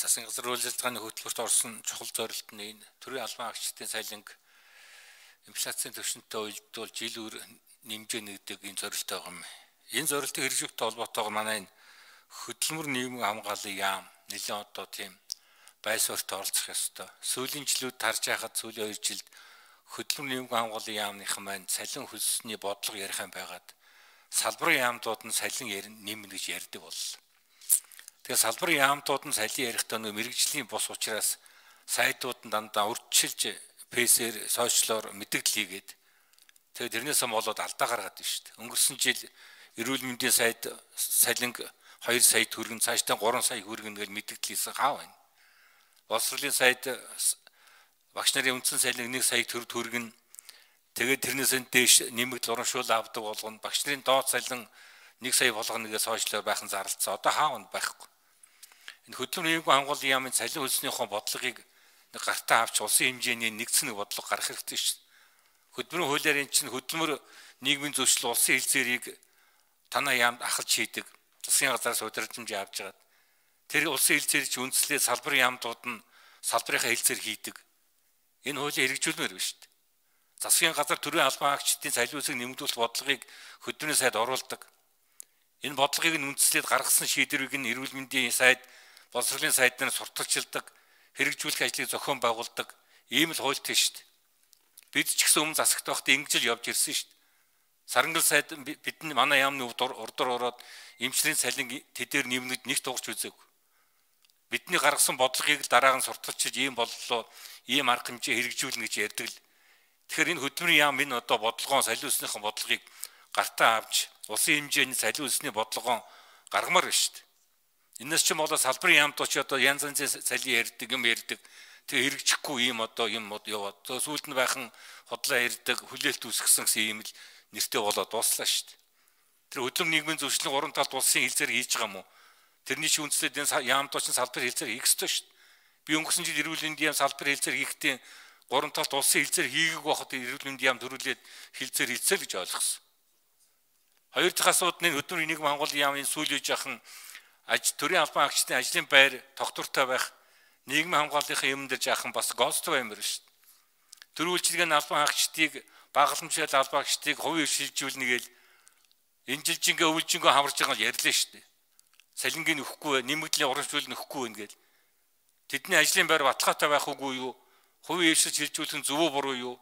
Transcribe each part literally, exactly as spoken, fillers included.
Засгийн газар үйл ажиллагааны хөтөлбөрт орсон чухал зорилт нь энэ төрийн албан агчдын сайланг инфляцийн түвшинтэй уялдуул жил үр нэмжээ нэгдэг энэ зорилт байгаа юм. Энэ зорилтын хэрэгжүүлэлттэй холбоотойгоор манай энэ хөдөлмөр нийгмийн хамгааллын яам нэлээд одоо тийм байсварт оролцох ёстой. Сүүлийн жилүүд тарж байхад сүүлийн хоёр жилд хөдөлмөр нийгмийн хамгааллын яамныхан маань салин хөлсний бодлого ярих юм байгаад салбарын яамдууд нь салин нэмнэ гэж ярьдаг боллоо. Тэгээ салбарын яамдууд нь салин ярихдаа нөө мэрэгжлийн бус учраас сайтууд нь дандаа урьдчилж пэсээр сошиалор мэдээлэл хийгээд тэгээ тэрнээсээ болоод алдаа гаргаад байна шүү дээ. Өнгөрсөн жил эрүүл мэндийн сайд салинг хоёр сая төгрөг цаашдаа гурван сая хүргэнэ гэж мэдээлэл хийсэн хаа байна. Боловсролын сайд багш нарын үндсэн салинг нэг сая төгрөг хүргэнэ. Тэгээд тэрнээс нь дээш нэмэгдэл урамшуул авдаг болгоно. Багш нарын доод салин нэг сая болгоно гэж сошиалор байхын зарлцсан. Одоо хаа вон байхгүй. Энэ хөдөлмөр нийгмийн хамгааллын яамын салин хөлснийхөө бодлогыг нэг гартаа авч улсын хэмжээний нэгдсэн нэг бодлого гаргах хэрэгтэй шүү дээ. Хөдөлмөрийн хуулиар эн чинь хөдөлмөр нийгмийн зөвшөлт улсын хэлцээрийг танаа яамд ахалж хийдэг. Засгийн газраас удирдамж авч байгаа. Тэр улсын хэлцээр чи үндслээ салбарын яамдууд нь салбарынхаа хэлцээр хийдэг. Энэ хуулийг хэрэгжүүлмээр байна шүү дээ. Засгийн газар төрийн албан агчдын салин үсэг нэмэгдүүлэх бодлогыг хөдөлмөрийн сайд оруулдаг. Энэ бодлогыг нь үндслээд гаргасан шийдвэрийг нь эрүүл мэндийн сайд, боловсролын сайд нар сурталчилдаг, хэрэгжүүлэх ажлыг зохион байгуулдаг. Ийм л хуультай шүү дээ. Бид ч гэсэн өмнө засагт байхдаа ингэж л явж ирсэн шүү дээ. Сарангал сайд бидний манай яамны урдуур ороод эмчлийн салин тэдээр нэмнэд нэг тугч үзээгүй. Бидний гаргасан бодлогыг л дараа нь сурталчилж ийм боллоо, ийм арга хэмжээ хэрэгжүүлнэ гэж ярьдаг л. Тэгэхээр энэ хөдөлмөрийн яам энэ одоо бодлогоо салин үснийхэн бодлогыг гартаа авч улсын хэмжээний салин үсний бодлогоо гаргамаар байна шүү дээ. Энэс ч болоо салбарын яамд ч одоо янз янзын салин ярьдаг юм ярьдаг. Тэгээ хэрэгжихгүй ийм одоо юм яваад. Сүүлд нь байхан хотлоо ярьдаг, хүлээлт үүсгэсэн гэсэн ийм л нэртэй болоод дуслаа шүү дээ. Тэр хөдөлмөр нийгмийн зөвшөлтийн гурван талд улсын хэлцээр хийж байгаа юм уу? Тэрний чинь үндслээд энэ яамд ч салбарын хэлцээр хийх ёстой шүү дээ. Би өнгөрсөн жил эрүүл мэндийн яам салбарын хэлцээр хийхдээ гурван талд улсын хэлцээр хийгээг байхад эрүүл мэндийн яам төрүүлээд хэлцээр хийцээ гэж ойлгосон. Хоёр дахь асуудал нь хөдөлмөрийн нийгмийн хамгааллын яамын сүүлийн жаахан аж төрийн албан агчдын ажлын байр тогтвортой байх нийгмийн хамгааллынхаа юм дээр жаахан бас гооцтой баймар шүү дээ. Төрүүлжлэгийн албан агчдыг багаламжтай албан агчдыг хувийн шилжүүлнэ гээл энэ жилжингээ өвлжингөө хамарж байгаа нь ярьлаа шүү дээ. Салингийн нөхгүй нэмэгдлийн урамшуул нөхгүй байна гээл. Тэдний ажлын байр баталгаатай байх үгүй юу? Хувийн шилжүүлэх нь зөв үү буруу юу?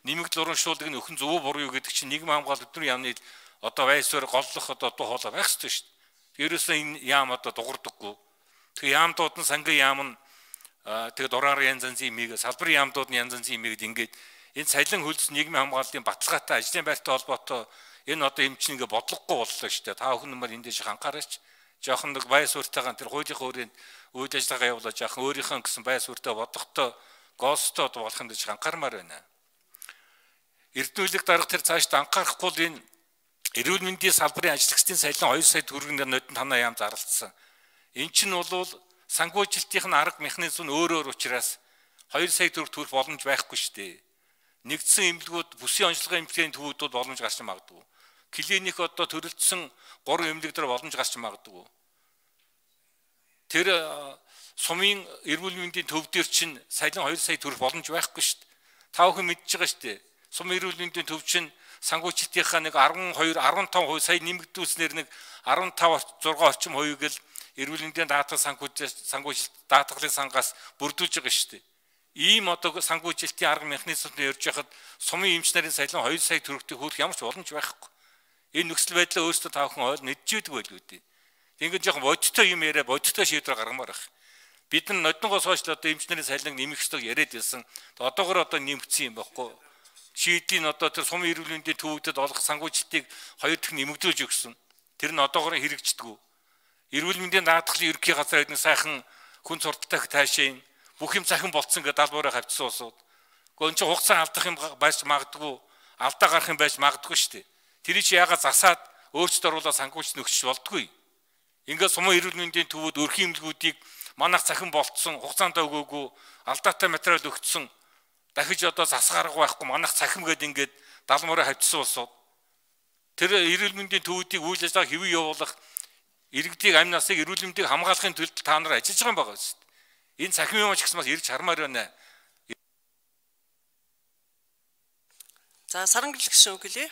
Нэмэгдэл урамшуулыг нөхөн зөв үү буруу юу гэдэг чинь нийгмийн хамгаалалт өдрийн яамны одоо байсвар голлох одоо дуу хоолой байх ёстой шүү дээ. Ерөөсөө энэ яам одоо дуурдаггүй. Тэгээ яамдууд нь сангийн яам нь тэгээ дураар янз янзын имийг салбарын яамдууд нь янз янзын имийг ингээд энэ салин хөлс нийгмийн хамгааллын баталгаатай ажлын байртай холбоотой энэ одоо эмчнийг бодлогогүй боллоо шүү дээ. Та бүхэн нар энд дэше анхаараач. Жохон нэг байсвартайгаа тэр хуулийнхаа өрөөнд үйл ажиллагаа явуулаад жохон өөрийнхөө гэсэн байсвартай бодлоготой гоостой болох юм дэше анхаармаар байна. Эрдэнэлэг дарга тэр цааш анхаарахгүй л энэ эрүүл мэндийн салбарын ажлагчдын салин хоёр сая төгрөгийн нодон танаа яам зарлцсан. Эн чинь бол санхүүжилтийн арга механизм нь өөр өөр учраас хоёр сая төгрөг төрөх боломж байхгүй шүү дээ. Нэгдсэн эмнэлгүүд бүсийн онцлогын эмнэлгийн төвүүд боломж гарч магадгүй. Клиник одоо төрөлдсөн гурван эмнэлэг дээр боломж гарч магадгүй. Тэр сумын эрүүл мэндийн төв дээр чинь салин хоёр сая төгрөх боломж байхгүй шүү дээ. Та бүхэн мэдж байгаа шүү дээ. Сум эрүүл мэндийн төв чинь санхүүжилтийнхаа нэг арван хоёр арван таван хувь сая нэмэгдүүлснээр нэг арван тав зургаан орчим хувийг л эрүүл мэндийн даатгал санхүүжилт санхүүжилт даатгалын сангаас бүрдүүлж байгаа шүү дээ. Ийм одоо санхүүжилтийн арга механизмд ярьж байхад сумын эмч нарын салин хоёр сая төгрөгтэй хүрэх ямар ч боломж байхгүй. Энэ нөхцөл байдлаа өөрсдөө та бүхэн ойл мэдчихэдэг байл үүдээ. Ингээд жоохон бодиттой юм яриа бодиттой шийдвэр гаргамаар байх. Бид нар нодонгоос хойш одоо эмч нарын салин нэмэх ёстойг яриад байсан. Одоогор одоо нэмэгдсэн юм байхгүй. Шийдлийн одоо тэр сумын эрүүл мэндийн төвүүдэд олох санхүүжилтийг хоёр дахь нэмэгдүүлж өгсөн. Тэр нь одоогоор хэрэгждэггүй. Эрүүл мэндийн даатгалын ерөнхий газар эдний сайхан хүн сурталтай таашаа бүх юм цахин болцсон гэдэг далбаараа хавцсан усууд. Гэхдээ энэ чинь хугацаа алдах юм байж магадгүй, алдаа гарах юм байж магадгүй шүү дээ. Тэр чи яагаад засаад өөрчлөлт оруулаад санхүүжилт нөгсөж болдгүй. Ингээд сумын эрүүл мэндийн төвүүд өрхийн эмнэлгүүдийг манайх цахин болцсон, хугацаанд өгөөгүй, алдаатай материал өгсөн. Дахиж одоо засгарга байхгүй манайх цахим гээд ингээд далмаараа хавцсан усууд. Тэр эрүүл мэндийн төвүүдийг үйл ажиллагаа хэвэн явуулах иргэдийг амь насыг эрүүл мэндийг хамгаалахын төлд та нар ажиллаж байгаа юм байна шүү дээ. Энэ цахим юм ч гэсэн бас ирж хармаар байна. За Сарангэл гишүүн үг хэлье.